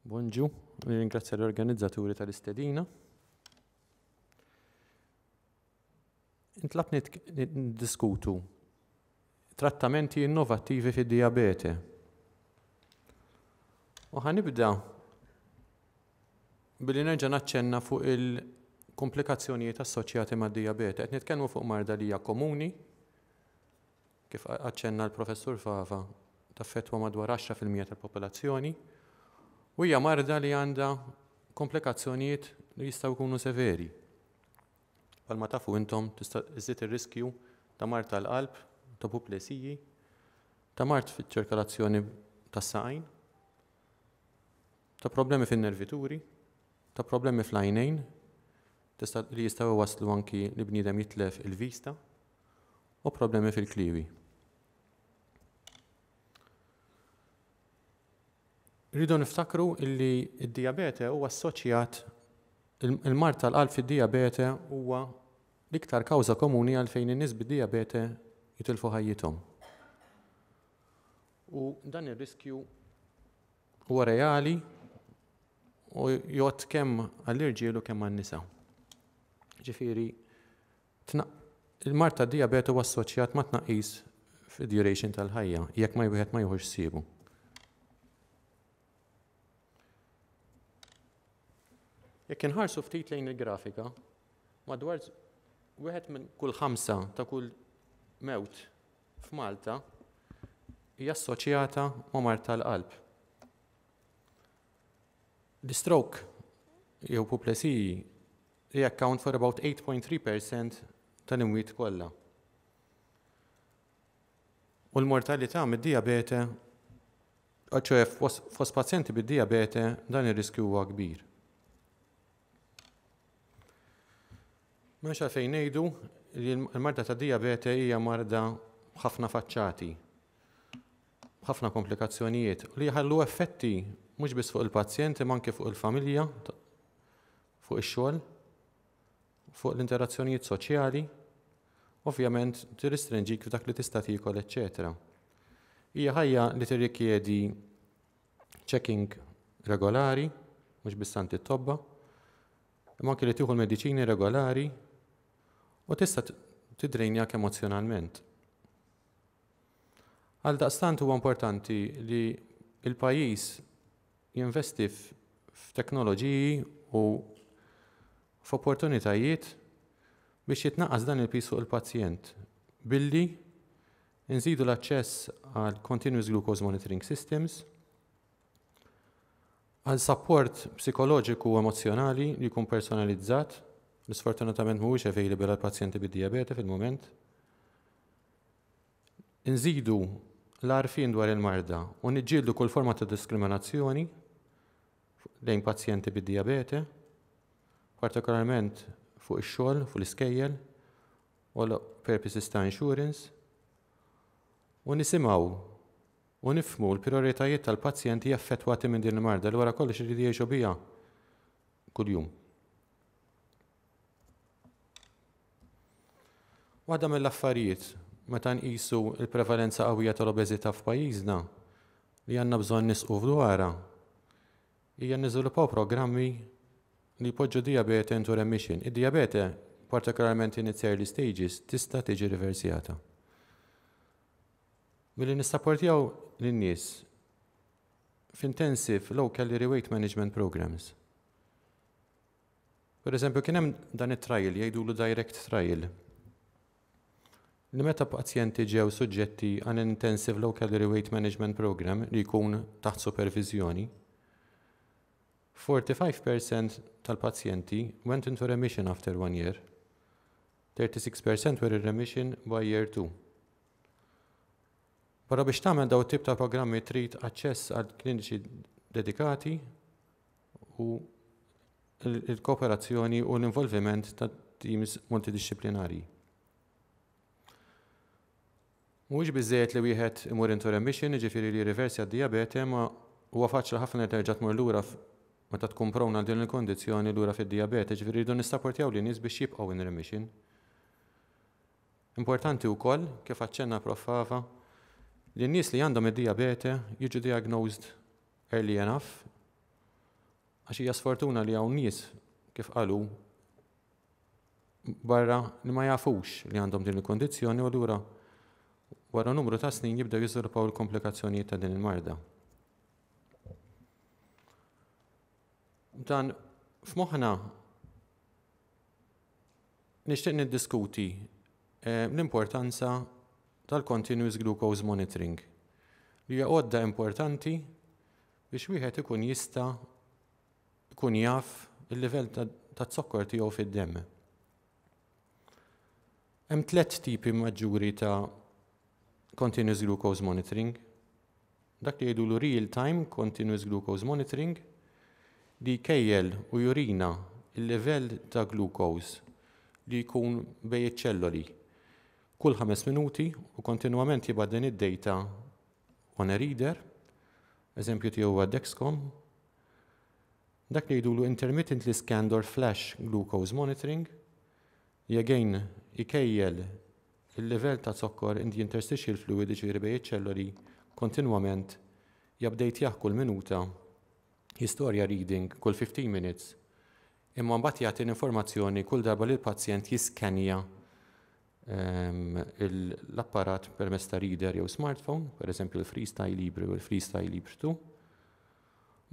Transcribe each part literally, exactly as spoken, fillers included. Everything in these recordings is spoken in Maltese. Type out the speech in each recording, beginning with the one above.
Bonġu, nirringrazzja l-organizzaturi tal-istedina. Intlabt niddiskutu trattamenti innovattivi fid-dijabete. U ħa nibda billi nerġa' naċċenna fuq il-komplikazzjonijiet assoċjati mad-dijabete. Qed nitkellmu fuq marda li hija komuni, kif aċċenna l-Professur Fava, taffettwa madwar għaxra fil-mija tal-popolazzjoni, u hija marda li għandha komplikazzjonijiet li jistgħu jkunu severi. Palma tafu intom tista' iżid ir-riskju ta' mard tal-qalb, ta' puplesiji, ta' mard fiċ-ċirkolazzjoni tas-saqajn, ta' problemi fin-nervituri, ta' problemi fl-għajnejn, tista' li jistgħu waslu anki li bniedem jitlef il-vista, u problemi fil-kliewi. Rridu niftakru illi d-dijabete huwa assoċjat, il-mard tal-qalb fid-dijabete huwa l-iktar kawża komuni għalfejn in-nies bid-dijabete jitilfu ħajjithom. U dan ir-riskju huwa reali u jgħodd kemm għall-irġiel u kemm għan-nisa. Ġifieri, il-mard tad-dijabete huwa assoċjat ma' tnaqqis fid-duration tal-ħajja, jekk ma wieħed ma jieħux ħsiebu. Jekk inħarsu ftit lejn il-grafika, madwar wieħed minn kull ħamsa ta' kull mewt f'Malta hija assoċjata ma' mard tal-qalb. L-stroke jew puplesiji they account for about eight point three percent tal-imwiet kollha. U l-mortalità mid-dijabete, ċoħe fost pazjenti bid-dijabete, dan ir-riskju huwa kbir. M'hemmx għalfejn ngħidu li l-marda ta' dijabete hija marda b'ħafna faċċati, b'ħafna komplikazzjonijiet li jħallu effetti mhux biss fuq il-pazjent imma anke fuq il-familja, fuq ix-xogħol, fuq l-interazzjonijiet soċjali, ovvjament tirrestrinġik f'dak li tista' tiekol, eċċetera. Hija ħajja li tirrikjedi checking regolari, mhux biss għand it-tobba, imma anke li tieħu l-mediċini regolari u tista' tidrejnjak emozjonalment. Għaldaqstant huwa importanti li l-pajjiż jinvesti f'teknoloġiji u f'opportunitajiet biex jitnaqqas dan il-piż fuq il-pazjent billi nżidu l-aċċess għal continuous glucose monitoring systems, għal support psikoloġiku u emozjonali li jkun personalizzat, li sfortunatament mhuwiex available għal pazjenti bid-dijabete fil-mument. Nżidu l-għarfien dwar il-marda u niġġieldu kull forma ta' diskriminazzjoni lejn pazjenti bid-dijabete, partikolarment fuq ix-xogħol, fuq l-iskejjel, u għal purposes ta' insurance, u nisimgħu u nifhmu l-prioritajiet tal-pazjenti affettwati minn din il-marda li wara kollox iridu jgħixu biha kuljum. Waħda mill-affarijiet meta nqisu l-prevalenza qawwija tal-obeżità f'pajjiżna li għandna bżonn nisqu dwarha hija niżviluppaw programmi li jpoġġu dijabete into remission. Id-dijabete, partikolarment in its early stages, tista' tiġi riversjata. Billi nissapportjaw lin-nies f'intensive low calorie weight management programs. Per eżempju, kien hemm dan it-trial jgħidulu direct trial. Li meta pazjenti ġew suġġetti għal intensive low calorie weight management program li jkun taħt supervizjoni, forty-five percent tal-pazjenti went into remission after one year, thirty-six percent were in remission by year two. Però biex tagħmel daw tip ta' programmi trid aċċess għal kliniċi dedikati u il-kooperazzjoni u l-involviment ta' teams multidisciplinari. Mhuwiex biżżejjed li wieħed imur into remission, jiġifieri li jirriversja d-dijabete, ma huwa faċli ħafna li terġa' tmur lura meta tkun prona għal din il-kondizzjoni lura fid-dijabete, jiġifieri rridu nissapportjaw lin nies biex jibqgħu in remission. Importanti wkoll, kif aċċenna Prof Fava, li n-nies li għandhom id-dijabete jiġu diagnosed early enough Għax hija sfortuna li hawn nies, kif qalu barra, li ma jafux li għandhom din il-kondizzjoni u allura wara numru ta' snin jibdew jiżviluppaw il-komplikazzjonijiet ta' din il-marda. Dan f'moħħna, nixtieq niddiskuti eh, l-importanza tal-continuous glucose monitoring, li hija għodda importanti biex wieħed ikun jista' jkun jaf il-livell ta' zokkor tiegħu fid-demm. Hemm tliet tipi maġġuri ta' continuous glucose monitoring. Dak li jgħidulu real time continuous glucose monitoring, li jkejjel u jurina il-livell ta' glucose li jkun bejn iċ-ċelloli kull ħames minuti u kontinwament jibgħat din id-data on a reader, eżempju tiegħu huwa Dexcom. Dak li jgħidulu intermittently scanned or flash glucose monitoring, li again ikejjel il-livell ta' zokkor in the interstitial fluid, ġifieri bejn iċ-ċelloli, kontinwament, jupdejtjah kull minuta, jistorja reading kull fifteen minutes, imma mbagħad jagħti l-informazzjoni kull darba li l-pazjent jiskanja ehm, l-apparat permezz ta' reader jew smartphone, per eżempju l-Freestyle Libre u l-Freestyle Libre two.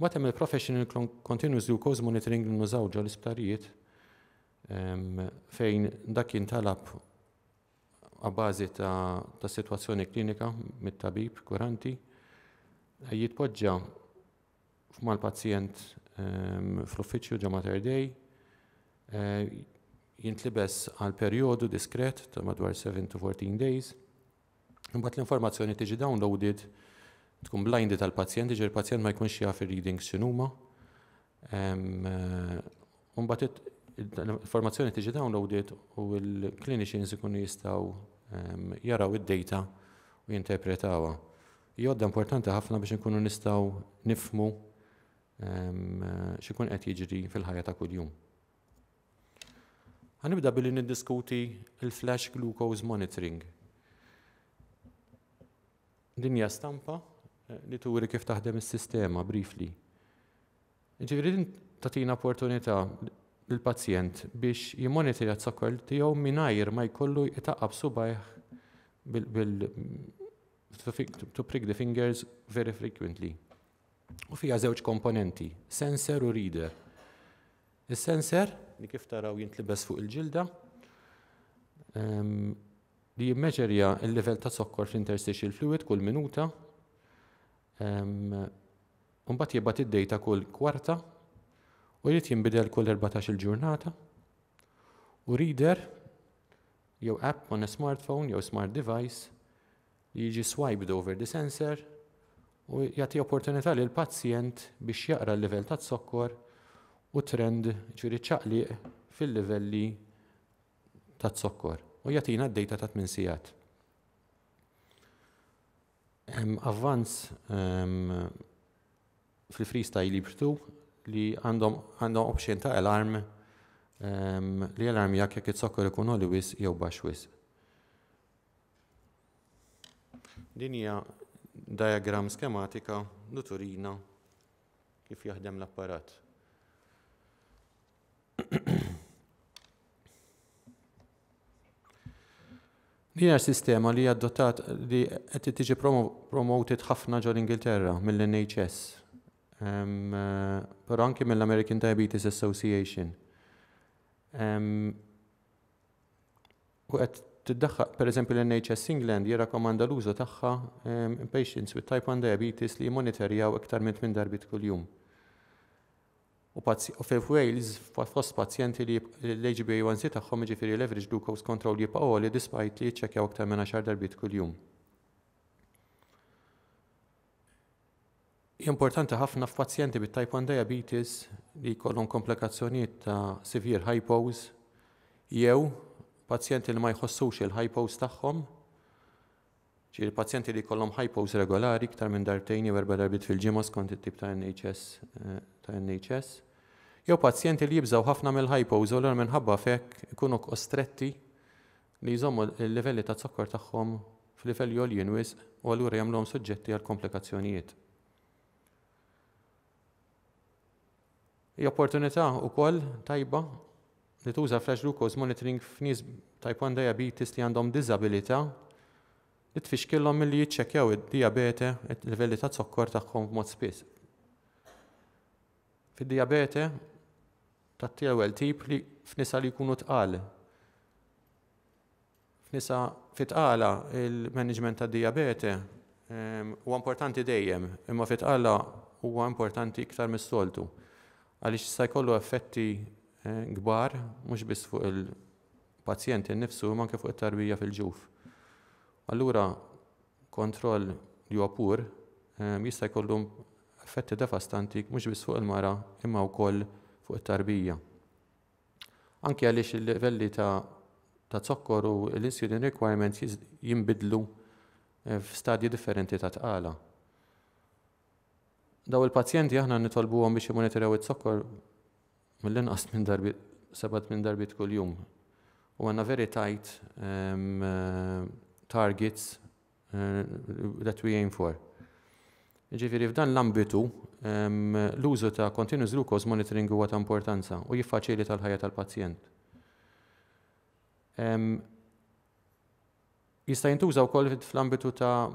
Mbagħad hemm il-Professional Continuous Glucose Monitoring li nużaw ġo l-isptarijiet ehm, fejn dak jintalab a bażi ta', ta situazzjoni klinika mit-tabib kuranti, jitpoġġa mal-pazjent um, fl-uffiċċju ġo Mater Dei, uh, jintlibes għal perjodu diskret ta' madwar seven to fourteen days. Imbagħad l-informazzjoni tiġi downloaded, tkun blinded tal-pazjent, ġifieri il-pazjent ma jkunx jaf ir-readings x'inhuma. Imbagħad l-informazzjoni tiġi downloaded u l-clinicians ikunu jistgħu jaraw id-data u jinterpretawha. Għodda importanti ħafna biex nkunu nistgħu nifhmu x'ikun qed jiġri fil-ħajja ta' kuljum. Ħa nibda billi niddiskuti il-flash glucose monitoring. Din hija stampa eh, li turi kif taħdem is-sistema briefly. Ġifieri din tagħtina opportunità lill-pazjent biex jimmonitorja z-zokkor tiegħu mingħajr ma jkollu jtaqqab subajh bil to prick the fingers very frequently. U fija żewġ komponenti, sensor u reader. Is-sensor, li kif taraw jintlibes fuq il-ġilda, um, li jimmeġerja il-level ta' zokkor fl-interstitial fluid kull minuta, um, Mbagħad jibgħat id-data kull kwarta u jrid jinbidel kull erbatax-il ġurnata. U reader jew app on a smartphone jew smart device li jiġi swiped over the sensor u jagħti opportunità lil pazjent biex jaqra l-livell ta' zokkor u trend, ġifieri ċaqliq fil-livelli ta' zokkor, u jagħtina d-data ta' tmien sigħat. Hemm avvanz um, fil-Freestyle Libre two li għandhom għandhom option ta' alarm um, li alarm jak jekk it-zokkor ikun għoli wisq jew baxx wisq. Din hija diagram skematika li turina kif jaħdem l-apparat. Din hija sistema li adottat li qed tiġi promoted ħafna ġol Ingilterra mill-N H S, um, però anki mill-American Diabetes Association. Um, u qed tiddaħħal, per eżempju, l-N H S England jirrakkomanda l-użu tagħha um, in patients with type one diabetes li jmonitorjaw iktar minn tmien darbiet kuljum. U fil-Wales, fost pazjenti li l-H B A one C tagħhom, jiġifieri l-average glucose control, jibqa' għoli despite li jiċċekkjaw iktar minn għaxar darbiet kuljum. Importanti ħafna f'pazjenti bit-type one diabetes li jkollhom komplikazzjonijiet ta' severe hypos jew pazjenti li ma jħossux il-hypos tagħhom, ġifieri pazjenti li jkollhom hypos regolari iktar minn darbtejn jew erba' darbiet fil-ġimgħa skont it-tip ta' N H S, eh, ta' N H S, jew pazjenti li jibżgħu ħafna mill-hypos u l minħabba f'hekk ikunu kostretti li jżommu l-livelli ta' zokkor tagħhom f'livelli għoljin wisq u allura jagħmluhom suġġetti għal komplikazzjonijiet. Hija opportunità wkoll tajba li tuża flash glucose monitoring f'nies type one diabetes li għandhom diżabilità li tfixkilhom milli jiċċekkjaw id-diabete, il-livelli ta' zokkor tagħhom b'mod spiss. Fid-diabete tat-ewwel tip li f'nisa li jkunu tqal. F'nisa fit-tqala, il-management ta' diabete ehm, huwa importanti dejjem, imma fit-tqala huwa importanti iktar mis-soltu, għaliex jista' jkollu effetti eh, kbar mhux biss fuq il-pazjent innifsu, imma anke fuq it-tarbija fil-ġuf. Allura kontroll li huwa pur ehm, jista' jkollu effetti devastanti mhux biss fuq il-mara, imma wkoll fuq it-tarbija. Anke għaliex il-livelli ta' ta' zokkor u l-insulin requirements jinbidlu eh, f'stadji differenti ta' tqala. Daw il-pazjenti aħna nitolbuhom biex jimonitorjaw it-zokkor mill-inqas minn darbi, seba' minn darbiet kuljum. U għandna very tight um, uh, targets uh, that we aim for. Ġifieri f'dan l-ambitu um, l-użu ta' continuous glucose monitoring huwa ta' importanza u jiffaċilita l-ħajja tal-pazjent. Um, jista' jintuża wkoll fl-ambitu ta'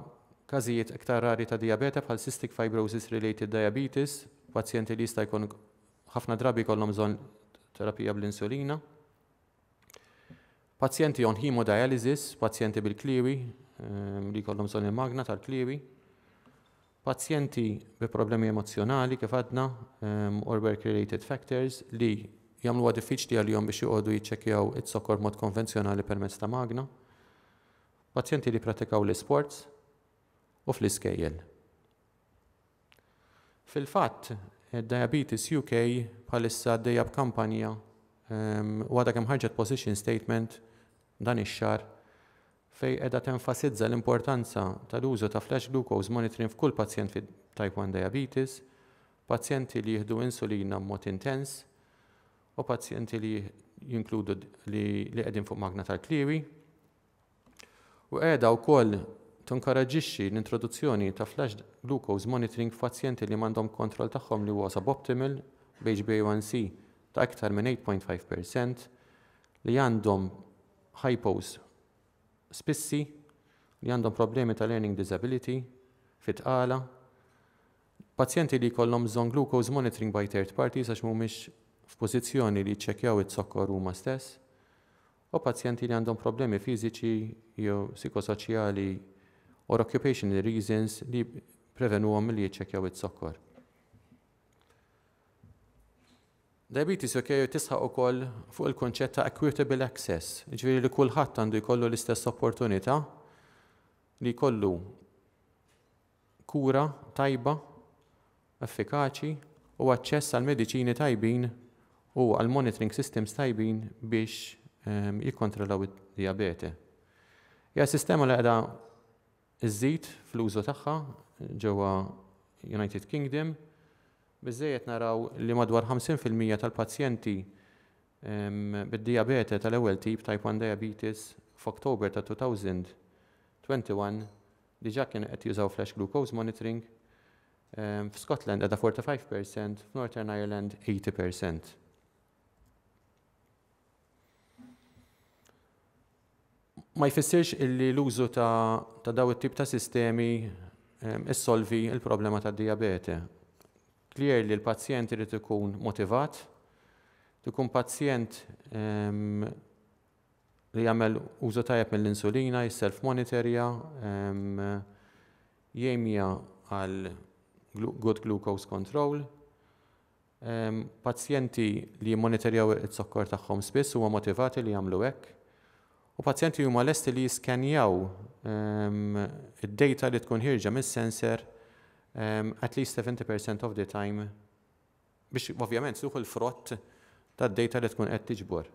każijiet iktar rari ta' diabete bħal cystic fibrosis related diabetes, pazjenti li jista' jkun ħafna drabi jkollhom bżonn terapija bl-insulina. Pazjenti on hemodialysis, pazjenti bil-kliwi, ehm, li jkollhom bżonn il-magna tal-kliwi. Pazjenti bi problemi emozjonali, kif għadna, um, or work-related factors li jagħmluha diffiċli għalihom biex joqogħdu jiċċekkjaw it-sokkor mod konvenzjonali permezz ta' magna. Pazjenti li pratikaw l-sports u fl-iskejjel. Fil-fatt, Diabetes U K bħalissa għaddejja b'kampanja um, u għadha kemm ħarġet position statement dan ix-xahar fej qiegħda tenfasizza l-importanza tal-użu ta' flash glucose monitoring f'kull pazjent fi type one diabetes, pazjenti li jieħdu insulina b'mod intens u pazjenti li jinkludu li li qegħdin fuq magna tal-kliwi. U qiegħda wkoll tinkoraġġixxi l-introduzzjoni ta' flash glucose monitoring f'pazjenti li m'għandhom kontroll tagħhom li huwa suboptimal b H B A one C ta' iktar minn eight point five percent, li għandhom hypos spissi, li għandhom problemi ta' learning disability, fit-tqala, pazjenti li jkollhom bżonn glucose monitoring by third parties għax mhumiex f'pożizzjoni li jiċċekkjaw it-zokkor huma stess, u pazjenti li għandhom problemi fiżiċi jew psikosoċjali or occupational reasons li prevenuhom milli jiċċekkjaw it-zokkor. Diabetes U K tisħaq ukoll fuq il-konċett ta' equitable access, ġifieri li kulħadd għandu jkollu l-istess opportunità li jkollu kura tajba, effikaċi u aċċess għal mediċini tajbin u għal monitoring systems tajbin biex um, jikkontrollaw id-diabete. Hija sistema li qiegħda iżżid fl-użu tagħha ġewwa United Kingdom. Biżejjed naraw li madwar ħamsin fil-mija tal-pazjenti bid-diabete tal-ewwel tip, type one diabetes, f'Oktober ta' elfejn u wieħed u għoxrin diġà kienu qed jużaw flash glucose monitoring. F'Scotland qiegħda erbgħa u erbgħin fil-mija, f'Northern Ireland tmenin fil-mija. Ma jfissirx illi l-użu ta', ta daw it-tip ta' sistemi issolvi il-problema ta' diabete. Clear li l-pazjent irid ikun motivat, ikun pazjent um, li jagħmel użu tajjeb mill-insulina, jisself-monitorja, um, jemja għal good glucose control. Um, pazjenti li jimmonitorjaw it-zokkor tagħhom spiss huma motivati li jagħmlu hekk. U pazjenti huma lesti li jiskenjaw um, id-data li tkun ħierġa mis-sensor um, at least seventy percent of the time biex ovvjament tieħu l-frott tad-data li tkun qed tiġbor.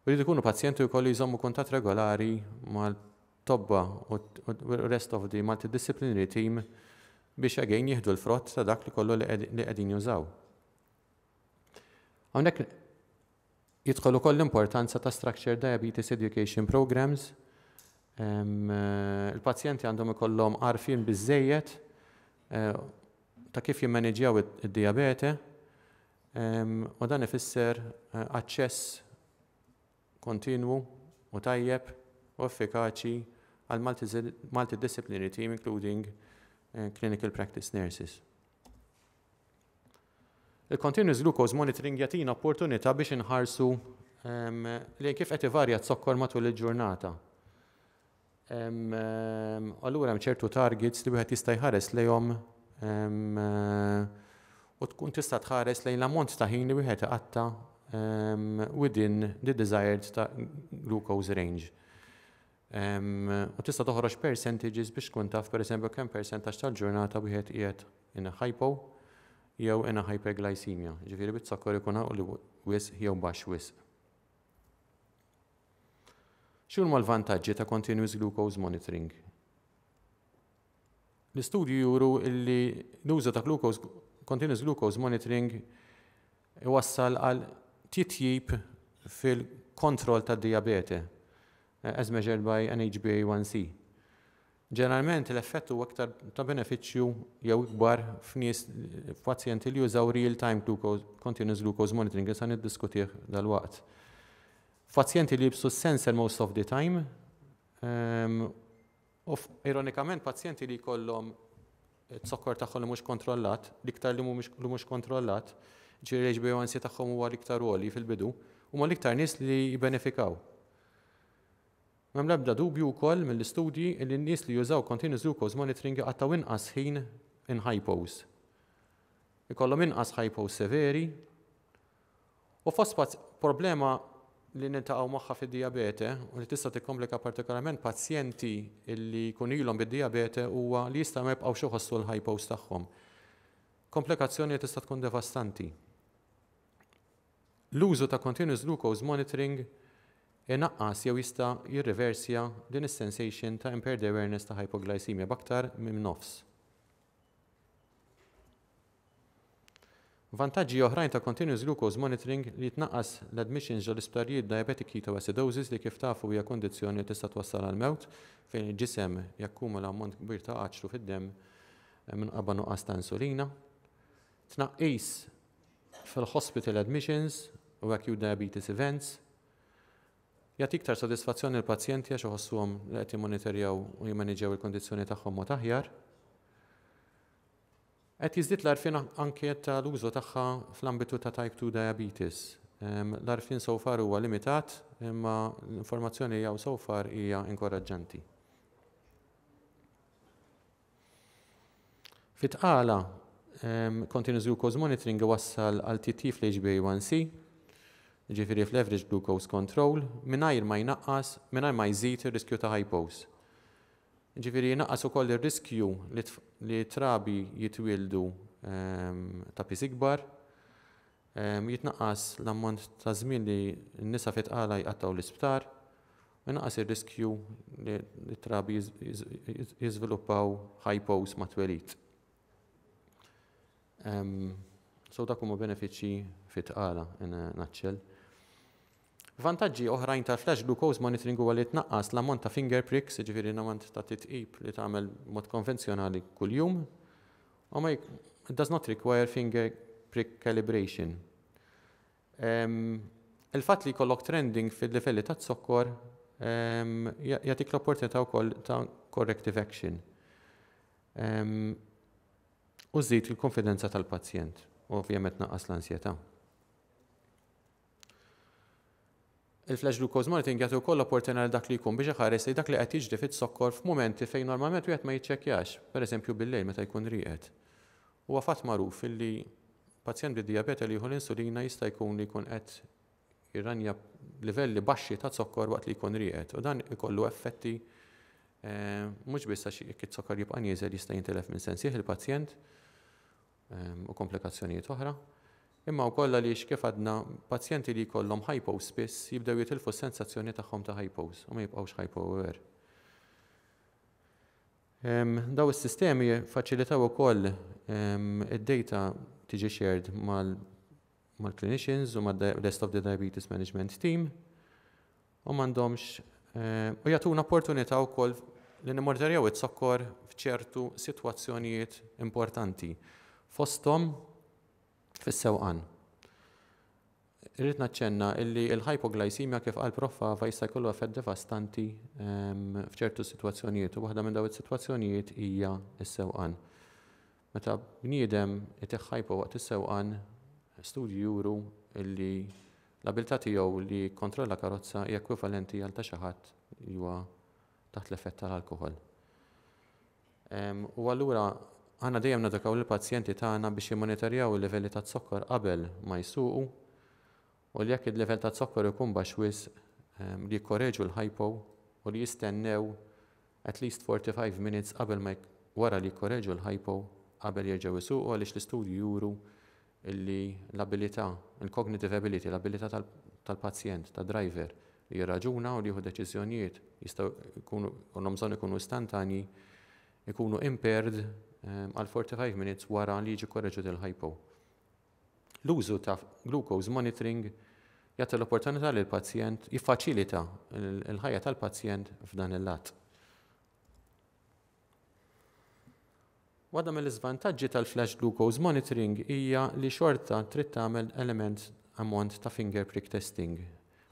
U li jkunu pazjenti jkollu jżommu kuntatt regolari mal-tobba u rest of the multidisciplinary team biex again jieħdu l-frott ta' dak li kollu li qegħdin jużaw. Hawnhekk jidħol ukoll l-importanza ta' structured diabetes education programs. Il-pazjenti għandhom ikollhom għarfien biżejjed eh, ta' kif jimmaneġjaw id-diabete. U dan ifisser eh, aċċess kontinwu u tajjeb u effikaċi għal multidisciplinary team, including uh, clinical practice nurses. Il-continuous glucose monitoring jagħtina opportunità biex inħarsu um, li kif qed ivarja z-zokkor matul il-ġurnata. Um, allura hemm ċertu targets li wieħed jista' jħares lejhom um, u tkun tista' tħares lejn l-ammont ta' ħin li wieħed iqatta um, within the desired ta' glucose range. Um, u tista' toħroġ percentages biex tkun taf, pereżempju, kemm percentaġġ tal-ġurnata wieħed qiegħed in a hypo jew in a hyperglycemia. Ġifieri bit-zokkor ikun għoli wisq jew baxx wisq. X'huma l-vantaġġi ta' continuous glucose monitoring? L-istudju juru illi l-użu ta' glucose continuous glucose monitoring iwassal għal titjib fil-kontroll tad diabete eh, as measured by an H B A one C. Ġeneralment l-effett huwa aktar ta' benefiċċju jew ikbar f'nies, f'pazjenti li jużaw real-time glucose, continuous glucose monitoring, li sa niddiskutih dal-waqt. Pazjenti li jilbsu sensor most of the time, um, u ironikament pazjenti li jkollhom zokkor tagħhom li mhux kontrollat, l-iktar li mhux kontrollat, ġifieri H B A one C tagħhom huwa l-iktar għoli fil-bidu, huma l-iktar nies li jibbenefikaw. M'hemm l-ebda dubju wkoll mill-istudji li n-nies li jużaw continuous glucose monitoring jqattgħu inqas ħin in hypos. Ikollhom inqas hypos severi u fost problema li niltaqgħu magħha fid-diabete u li tista' tikkomplika partikolarment pazjenti li jkun ilhom bid-diabete huwa li jista' ma jibqgħux iħossu l-hypos tagħhom. Komplikazzjoni li tista' tkun devastanti. L-użu ta' continuous glucose monitoring inaqqas jew jista' jirriversja din is-sensation ta' impaired awareness ta' hypoglycemia b'aktar minn nofs. Vantaġġi oħrajn ta' continuous glucose monitoring li jitnaqqas l-admissions ġol isptarijiet diabetic ketoacidosis, li kif tafu hija kondizzjoni li tista' twassal għal mewt fejn il-ġisem jakkumula ammont kbir ta' aċtu fid-demm eh, minħabba nuqqas ta' insulina. Tnaqqis fil-hospital admissions u acute diabetes events. Jagħti iktar sodisfazzjoni l-pazjenti għax iħossuhom li qed jimmonitorjaw u jimmaniġġjaw il-kondizzjoni tagħhom mod aħjar. Qed jiżdied l-għarfien anke tal-użu tagħha fl-ambitu ta' type two diabetes. L-għarfien so far huwa limitat, imma l-informazzjoni jew so far hija inkoraġġanti. Fit-tqala, continuous glucose monitoring iwassal għal titjib fl-H B A one C, ġifieri fl-average glucose control, mingħajr ma jnaqqas, mingħajr ma jżid ir-riskju ta' hypos. Ġifieri jnaqqas ukoll ir-riskju li trabi jitwildu ehm, ta' piż ikbar, ehm, jitnaqqas l-ammont ta' żmien li n-nisa fit-tqala jqattgħu l-isptar, u jnaqqas ir-riskju li trabi jiżviluppaw hypos mat-twelid. Ehm, so dak huma benefiċċji fit-tqala in a nutshell. Vantaġġi oħrajn tal-flash glucose monitoring huwa li tnaqqas l-ammont ta' finger pricks, jiġifieri l-ammont ta' titqib li tagħmel mod konvenzjonali kuljum, u ma it does not require finger prick calibration. Il-fatt li jkollok trending fil-livelli ta' zokkor jagħtik l-opportunità wkoll ta' corrective action. U żżid il-konfidenza tal-pazjent u ovvjament naqqas l-ansjetà. Il-flash glucose monitoring jagħti wkoll opportunità lil dak li jkun biex iħares li dak li qed jiġri fiz-zokkor f'mumenti fejn normalment wieħed ma jiċċekkjax, pereżempju bil-lejl meta jkun rieqed. Huwa fatt magħruf illi pazjent bid-dijabete li jieħu l-insulina jista' jkun li jkun qed jirranja livelli baxxi ta' zokkor waqt li jkun rieqed u dan ikollu effetti eh, mhux biss għax jekk iz-zokkor jibqa' nieżel jista' jintilef minn sensih il-pazjent eh, u komplikazzjonijiet oħra, imma wkoll għaliex, kif għadna, pazjenti li jkollhom hypo spiss jibdew jitilfu s-sensazzjoni tagħhom ta' hypos u ma jibqgħux hypo aware. Daw is-sistemi faċilitaw ukoll id-data tiġi shared mal-clinicians u mal-rest of the diabetes management team u m'għandhomx eh, u jagħtuna opportunità wkoll li nimmonitorjaw iz-zokkor f'ċertu sitwazzjonijiet importanti. Fosthom fis-sewqan. Irrid naċċenna illi il-hypoglycemia, kif qal Prof Fava, jista' jkollu effett devastanti ehm, f'ċertu sitwazzjonijiet u waħda minn dawn is-sitwazzjonijiet hija s-sewqan. Meta bniedem itih hypo waqt is-sewqan, studji juru illi l-abilità tiegħu li jikkontrolla karozza hija ekwivalenti għal ta' xi ħadd li huwa taħt l-effett tal-alkoħol. Ehm, u allura aħna dejjem nedukaw lill-pazjenti tagħna biex jimmonitorjaw il-livelli ta' zokkor qabel ma jsuqu u li jekk il-livell ta' zokkor ikun baxx wisq ehm, li jikkoreġu l-hypo u li jistennew at least forty-five minutes qabel ma wara li jikkoreġu l-hypo qabel jerġgħu jsuqu, għaliex l-istudji juru illi l-abilità, il-cognitive ability, l-abilità tal-pazjent, tad-driver li jirraġuna u li jieħu deċiżjonijiet jistgħu jkunu bżonn ikunu istantanji, ikunu impaired ehm, għal forty-five minutes wara li jiġi korreġut il-hypo. L-użu ta' glucose monitoring jagħti l-opportunità li l-pazjent, jiffaċilita l-ħajja tal-pazjent f'dan il-lat. Waħda mill-iżvantaġġi tal-flash glucose monitoring hija li xorta trid tagħmel element ammont ta' finger prick testing.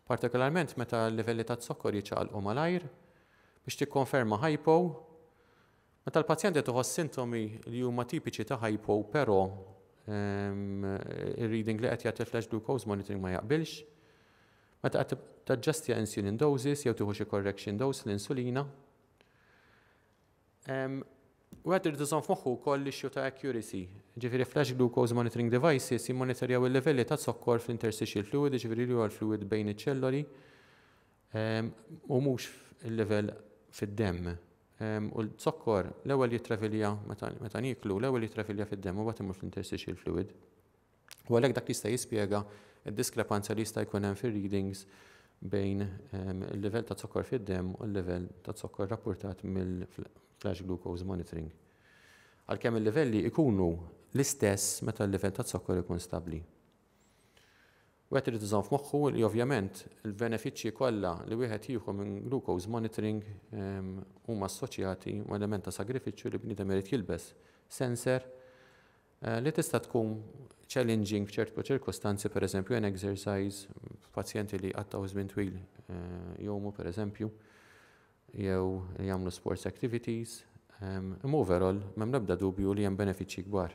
Partikolarment meta l-livelli ta' zokkor jiċċaqalqu malajr biex tikkonferma hypo. Meta l-pazjent qed iħoss sintomi li huma tipiċi ta' hypo, però ehm, il-reading li qed jagħti flash glucose monitoring ma jaqbilx. Meta qed taġġastja insulin doses jew tieħu xi correction dose l-insulina. Ehm, Wieħed irid iżomm f'moħħu wkoll l-issue ta' accuracy. Ġifieri flash glucose monitoring devices jimmonitorjaw il-livelli ta' zokkor fl-interstitial fluid, ġifieri li huwa l-fluid bejn iċ-ċelloli, ehm, u mhux il-livell fid-demm. Ehm, u l-zokkor l-ewwel jitravilja meta nieklu, l-ewwel jitravilja fid-demm u mbagħad imur fl-interstitial fluid. U għalhekk dak jista' jispjega d-diskrepanza li jista' jkun hemm fir-readings bejn ehm, il-livell ta' zokkor fid-demm u l-livell ta' zokkor rapportat mill-flash glucose monitoring. Għalkemm il-livelli ikunu l-istess meta l-livell ta' zokkor ikun stabbli. Wieħed irid iżomm f'moħħu li ovvjament il-benefiċċji kollha li wieħed jieħu minn glucose monitoring ehm, huma assoċjati ma' element ta' sagrifiċċju li bniedem irid jilbes sensor eh, li tista' tkun challenging f'ċertu ċirkostanzi, per eżempju an exercise, pazjenti li qattgħu żmien twil eh, jgħumu, per eżempju, jew li jagħmlu sports activities. Ehm, imma overall m'hemm l-ebda dubju li hemm benefiċċji kbar.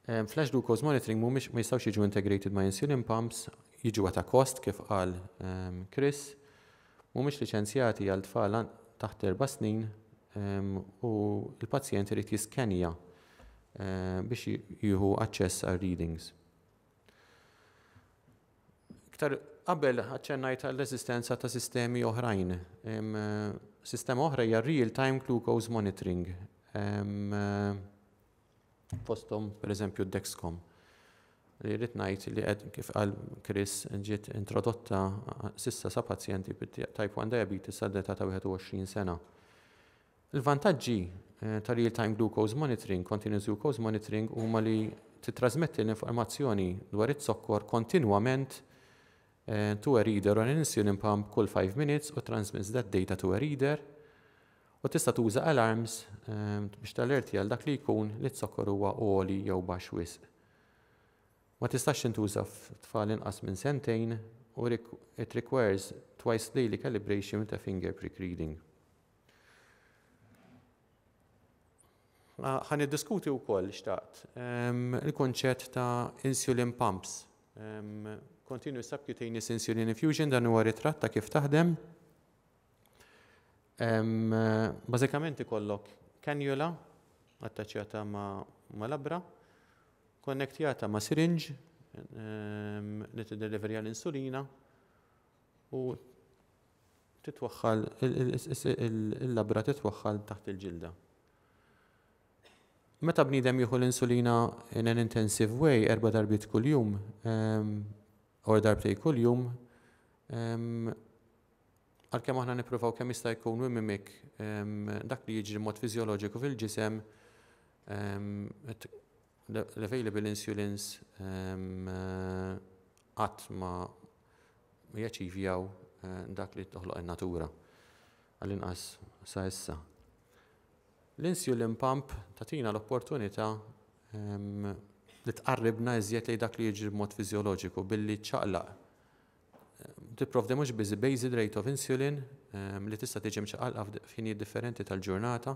Ehm, flash glucose monitoring mhumiex, ma jistgħux jiġu integrated ma' insulin pumps, jiġu ta' cost kif qal um, Chris, mhumiex liċenzjati għal tfal taħt erba' snin um, u l-pazjent irid jiskenja uh, biex jieħu aċċess għal readings. Iktar qabel aċċennajt għall-eżistenza ta' sistemi oħrajn. Um, sistema oħra hija real-time glucose monitoring. Um, fosthom per eżempju Dexcom. Li rrid ngħid li qed, kif qal Chris, ġiet introdotta s'issa sa pazjenti bit-type one diabetes sa età ta' wieħed u għoxrin sena. Il-vantaġġi eh, ta' real-time glucose monitoring, continuous glucose monitoring, huma li titrasmetti l-informazzjoni dwar it-zokkor kontinwament eh, to a reader on an insulin pump kull five minutes u transmits that data to a reader, u tista' tuża alarms eh, biex tallerti għal dak li jkun li t-zokkor huwa għoli jew baxx wisq. Ma tistax tintuża f'tfal inqas minn sentejn u it requires twice daily calibration with a finger prick reading. Ħa niddiskuti wkoll, xtaqt, il-konċett ta' insulin pumps. Continuous subcutaneous insulin infusion, dan huwa ritratt ta' kif taħdem. Bażikament ikollok cannula attaċċjata ma', ma labra, konnektjata ma' syringe li tideliverja l-insulina u titwaħħal il-labra, titwaħħal taħt il-ġilda. Meta bniedem jieħu l-insulina in an intensive way, erba' darbiet kuljum, or darbtej kuljum, għalkemm aħna nippruvaw kemm jista' jkun we mimic dak li jiġri mod fiżjoloġiku fil-ġisem, l-available insulins qatt ma jaċivjaw eh, dak li toħloq in-natura, għall-inqas sa issa. L-insulin pump tagħtina l-opportunità li tqarribna iżjed lejn dak li jiġri b'mod fiżjoloġiku billi ċaqlaq, tipprovdi mhux biss basal rate of insulin li tista' tiġi mċaqalqa f'ħinijiet differenti tal-ġurnata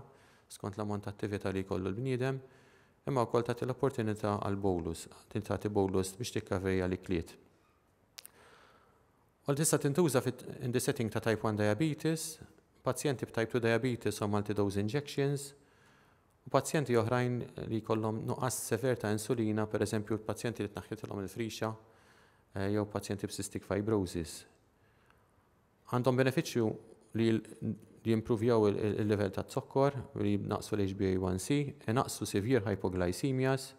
skont l-ammont ta' attività li jkollu l-bniedem, imma wkoll tagħti l-opportunità għal bolus, tagħti bolus biex tikkaverja l-ikliet. U tista' tintuża in the setting ta' type one diabetes, pazjenti b'type two diabetes u multi-dose injections, u pazjenti oħrajn li jkollhom nuqqas sever ta' insulina, per eżempju pazjenti li tnaħħitilhom il-frixa eh, jew pazjenti b'cystic fibrosis. Għandhom benefiċċju li li jimprovjaw il-level ta' zokkor, li naqsu l-H B A one C, naqsu severe hypoglycemias,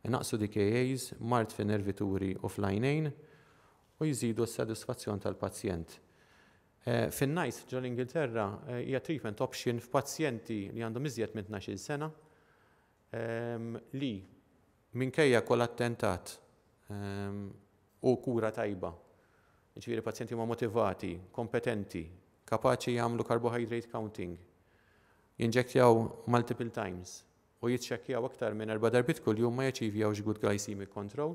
naqsu D K As, mard fin nervituri u fl-għajnejn, u jżidu s-sodisfazzjon tal-pazjent. Eh, Fin-NICE ġol Ingilterra eh, hija treatment option f'pazjenti li għandhom iżjed minn tnax-il sena ehm, li minkejja kull attentat ehm, u kura tajba. Ġifieri pazjenti huma motivati, kompetenti, kapaċi jagħmlu carbohydrate counting, jinġektjaw multiple times u jitċekkjaw aktar minn erba' darbiet kuljum, ma jaċivjawx good glycemic control.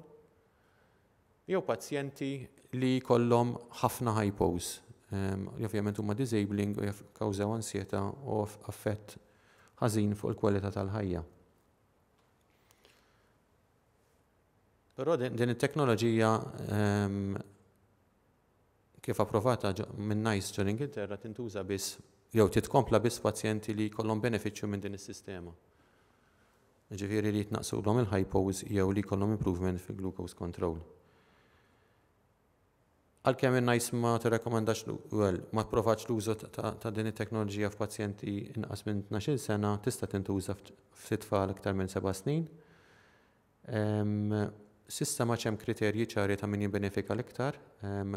Jew pazjenti li kollhom ħafna hypos, li ovvjament huma disabling u jikkawżaw ansjetà u affett ħażin fuq il-kwalità tal-ħajja. Però din it-teknoloġija, kif approvata minn NICE ġol Ingilterra, tintuża biss jew titkompla biss pazjenti li jkollhom benefiċċju minn din is-sistema. Ġifieri li jitnaqsulhom il-hypos jew li jkollhom improvement fil-glucose control. Għalkemm in-NICE ma tirrakkomandax, well, ma approvax l-użu ta' din it-teknoloġija f'pazjenti inqas minn tnax-il sena, tista' tintuża f'tfal iktar minn seba' snin. S'issa ma hemm kriterji ċari ta' min jibbenefika l-iktar,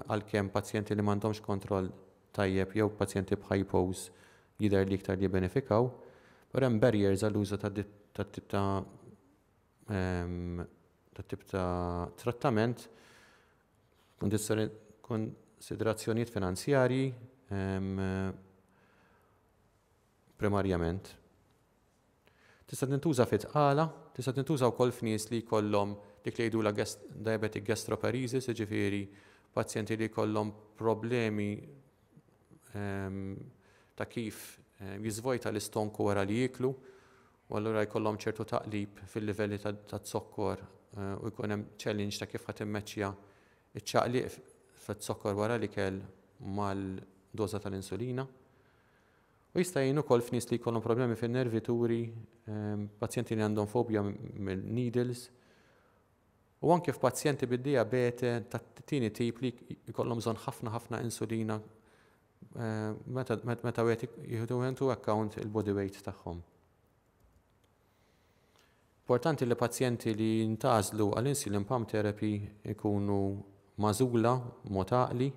għalkemm pazjenti li m'għandhomx kontroll tajjeb jew pazjenti b'hypos jidher li iktar li jibbenefikaw, però hemm barriers għall-użu ta' tip ta' ta' tip ta' trattament, konsiderazzjonijiet finanzjarji primarjament. Tista' tintuża fit-tqala, tista' tintuża wkoll f'nies li jkollhom dik li jgħidulha diabetic gastroparesis, jiġifieri pazjenti li jkollhom problemi ta' kif jiżvojta l-istonku wara li jieklu, u allura jkollhom ċertu taqlib fil-livelli ta' zokkor eh, u jkun hemm challenge ta' kif ħa timmeċċja iċ-ċaqliq fit-zokkor wara l-ikel mal-doża tal-insulina. U jista' jgħin ukoll f'nies li jkollhom problemi fin-nervituri, ehm, pazjenti li għandhom fobja mill-needles, u anke f'pazjenti bid-diabete tat-tieni tip li jkollhom bżonn ħafna ħafna insulina eh, meta meta wieħed jieħdu into account il-body weight tagħhom. Importanti li pazjenti li jintgħażlu għall-insulin pump therapy ikunu magħżula mod għaqli,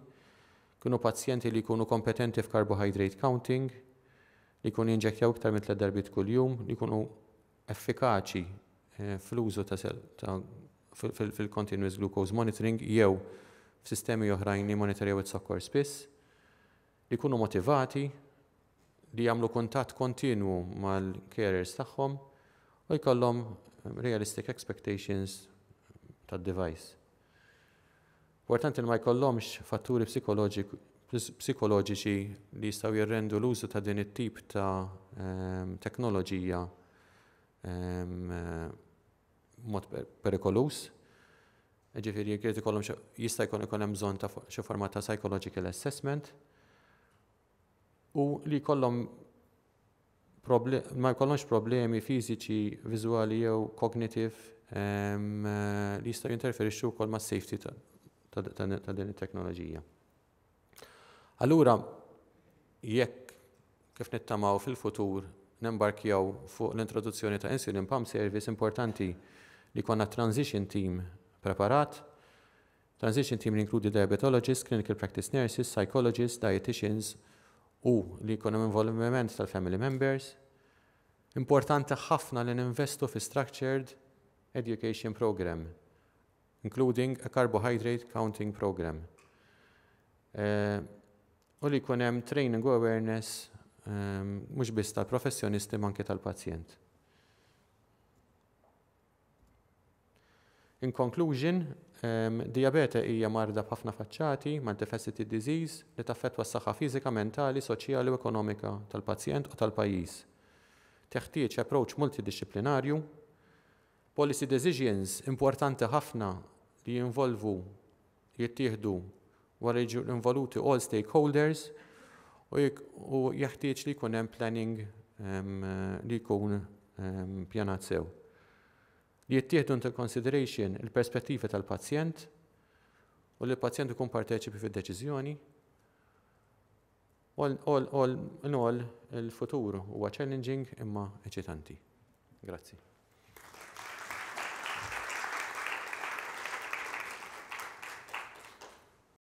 kienu pazjenti li jkunu kompetenti f'carbohydrate counting, li jkunu jinġektjaw iktar minn tliet darbiet kuljum, li jkunu effikaċi eh, fl-użu ta' fil-continuous glucose monitoring jew f'sistemi oħrajn li monitorjaw it-sokkor spiss, li jkunu motivati, li jagħmlu kuntatt kontinwu mal-carers tagħhom u jkollhom realistic expectations tad-device. Importanti li ma jkollhomx fatturi psikoloġiċi li jistgħu jirrendu l-użu ta' din it-tip ta' ehm, teknoloġija ehm, mod perikoluż. Ġifieri jekk ikollhom, jista' jkun ikun hemm bżonn ta' xi forma ta' psychological assessment u li jkollhom ma jkollhomx problemi fiżiċi, viżwali jew cognitive ehm, li jistgħu jinterferixxu wkoll mas-safety ta' din it-teknoloġija. Allura, jekk kif nittamaw fil-futur nembarkjaw fuq l-introduzzjoni ta' insulin pump service, importanti li jkollna transition team preparat, transition team li inkludi diabetologists, clinical practice nurses, psychologists, dietitians u li jkun hemm involviment tal-family members. Importanti ħafna li ninvestu fi structured education program, including a carbohydrate counting program. Uh, u li jkun hemm training u awareness um, mhux biss tal-professjonisti, anke tal-pazjent. In conclusion, um, diabete hija marda b'ħafna faċċati, multifaceted disease, li taffettwa s-saħħa fiżika, mentali, soċjali u ekonomika tal-pazjent u tal-pajjiż. Teħtieġ approach multidisciplinarju, policy decisions importanti ħafna li jinvolvu, jittieħdu wara jiġu involuti all stakeholders u jeħtieġ li jkun hemm planning um, li jkun um, pjanat sew. Li jittieħdu into consideration il-perspettiva tal-pazjent u li l-pazjent ikun parteċipi fid-deċiżjoni. All, all, all in all, il-futur huwa challenging imma eċitanti. Grazzi.